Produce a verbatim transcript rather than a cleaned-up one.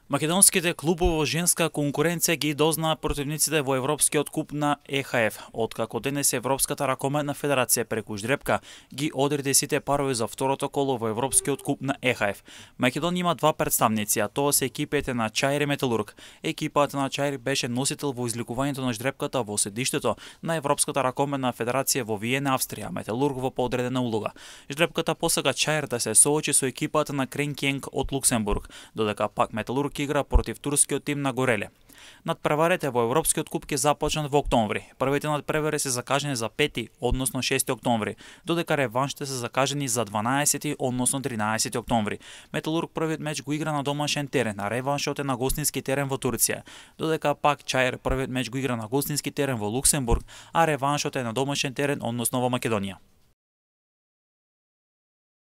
Македонските клубови во женска конкуренција ги дознаа противниците во Европскиот куп на Е Ха Еф, откако денес Европската ракометна федерација преку ждрепка ги одреди сите парови за второто коло во Европскиот куп на Е Ха Еф. Македонија има два претставници, а тоа се екипите на Чаир и Металург. Екипата на Чаир беше носител во изликувањето на ждрепката во седиштето на Европската ракометна федерација во Виена, Австрија, Металург во поодредена улога. Ждрепката посака Чаир да се соочи со екипата на Кренкенг од Луксембург, додека пак Металург игра против турскиот тим на Гореле. Надпреварите во Европскиот куп ќе започнат во октомври. Првите надпревари се закажани за пети, односно шести октомври, додека реваншите се закажани за дванаесети, односно тринаесети октомври. Металург првиот меч го игра на домашен терен, а реваншот е на гостински терен во Турција, додека пак Чаир првиот меч го игра на гостински терен во Луксембург, а реваншот е на домашен терен, односно во Македонија.